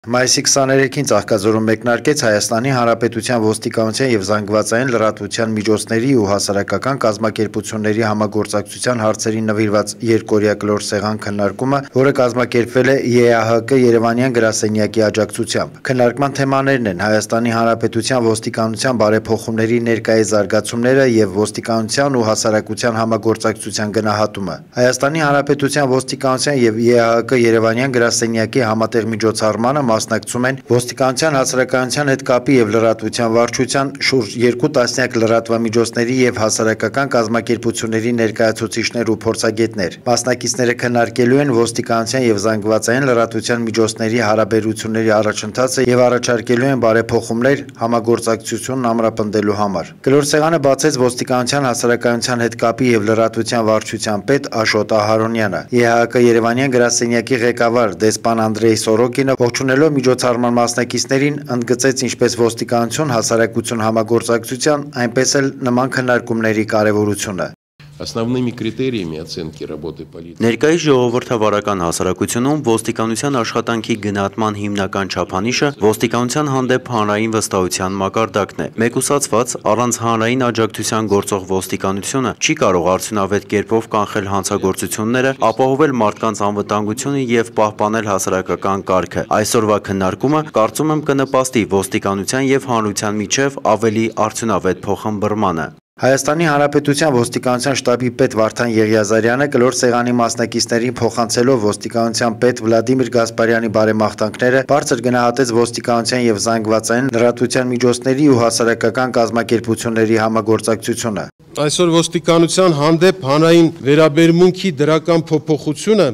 Մայիսի 23-ին Ծաղկաձորում մեկնարկեց Հայաստանի Հանրապետության ոստիկանության և զանգվածային լրատվության միջոցների ու հասարակական կազմակերպությունների համագործակցության հարցերին նվիրված երկօրյա կլոր սեղան քննարկումը, որը կազմակերպվել է ԵԱՀԿ Երևանյան գրասենյակի աջակցությամբ։ Քննարկման թեմաներն են Հայաստանի Հանրապետության ոստիկանության բարեփոխումների ներկայիս զարգացումները և ոստիկանության ու հասարակության համագործակցության գնահատումը։ Հայաստանի Հանրապետության ոստիկանության և ԵԱՀԿ Երևանյան գրասենյակի համատեղ միջոցառմանը մասնակցում են ոստիկանության հասարակայնության հետ կապի և լրատվության վարչության շուրջ 2 տասնյակ լրատվամիջոցների և հասարակական կազմակերպությունների ներկայացուցիչներ ու փորձագետներ։ Մասնակիցները քննարկելու են ոստիկանության և զանգվածային լրատվության միջոցների հարաբերությունների առաջընթացը և առաջարկելու են բարեփոխումներ համագործակցությունն ամրապնդելու համար։ Կլոր սեղանը բացեց ոստիկանության հասարակայնության հետ կապի և լրատվության վարչության պետ Աշոտ Ահարոնյանը։ ԵԱՀԿ Երևանյան գրասենյակի ղեկավար դեսպան Անդրեյ Սորոկինը ողջունելով միջոցառման մասնակիցներին ընդգծեց ինչպես ոստիկանություն հասարակություն համագործակցության, այնպես էլ նման քննարկումների կարևորությունը։ Основными критериями оценки работы полиции. Ներկայիս ժողովրդավարական հասարակությունում ոստիկանության աշխատանքի գնահատման հիմնական չափանիշը ոստիկանության հանդեպ հանրային վստահության մակարդակն է։ Մեկուսացված, առանց հանրային աջակցության գործող ոստիկանությունը չի կարող արդյունավետ կերպով կանխել հանցագործությունները, ապահովել մարդկանց անվտանգությունը և պահպանել հասարակական կարգը։ Այսօրվա քննարկումը, կարծում եմ, կնպաստի ոստիկանության և հանրության միջև ավելի արդյունավետ փոխըմբռնմանը։ Հայաստանի Հանրապետության ոստիկանության շտաբի պետ Վարդան Եղիազարյանը կլոր սեղանի մասնակիցներին փոխանցելով ոստիկանության պետ Վլադիմիր Գասպարյանի բարեմաղթանքները բարձր գնահատեց ոստիկանության և զանգվածային լրատվության միջոցների ու հասարակական կազմակերպությունների համագործակցությունը։ Այսօր ոստիկանության հանդեպ հանրային վերաբերմունքի դրական փոփոխությունը,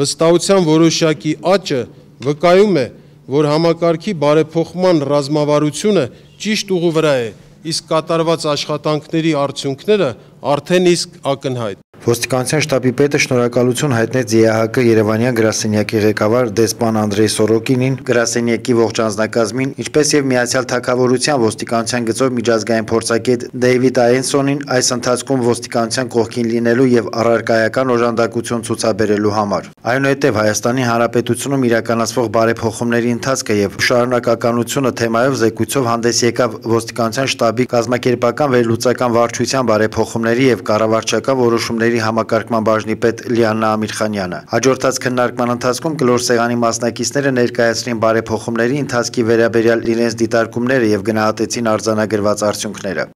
վստահության որոշակի աճը վկայում է, որ համակարգի բարեփոխման ռազմավարությունը ճիշտ ուղու վրա է, իսկ կատարված աշխատանքների արդյունքները արդեն իսկ ակնհայտ։ Ոստիկանության շտաբի պետը շնորհակալություն հայտնեց ԵԱՀԿ Երևանյան գրասենյակի ղեկավար դեսպան Անդրեյ Սորոկինին, գրասենյակի ողջ անձնակազմին, ինչպես և Միացյալ Թագավորության ոստիկանության գծով միջազգային փորձագետ Դեյվիդ Այենսոնին այս ընթացքում ոստիկանության կողքին լինելու և առարկայական օժանդակություն ցուցաբերելու համար։ Այնուհետև Հայաստանի Հանրապետությունում իրականացվող բարեփոխումների ընթացքը և շարունակականությունը թեմայով զեկույցով հանդես եկավ ոստիկանության շտաբի կազմակերպական վերլուծական վարչության բարեփոխումների և կառավարչական որոշումների համակարգման բաժնի պետ Լիաննա Ամիրխանյանը։ Հաջորդած քննարկման ընթացքում կլոր սեղանի մասնակիցները ներկայացրին բարեփոխումների ընթացքի վերաբերյալ իրենց դիտարկումները և գնահատեցին արձանագրված արդյունքները։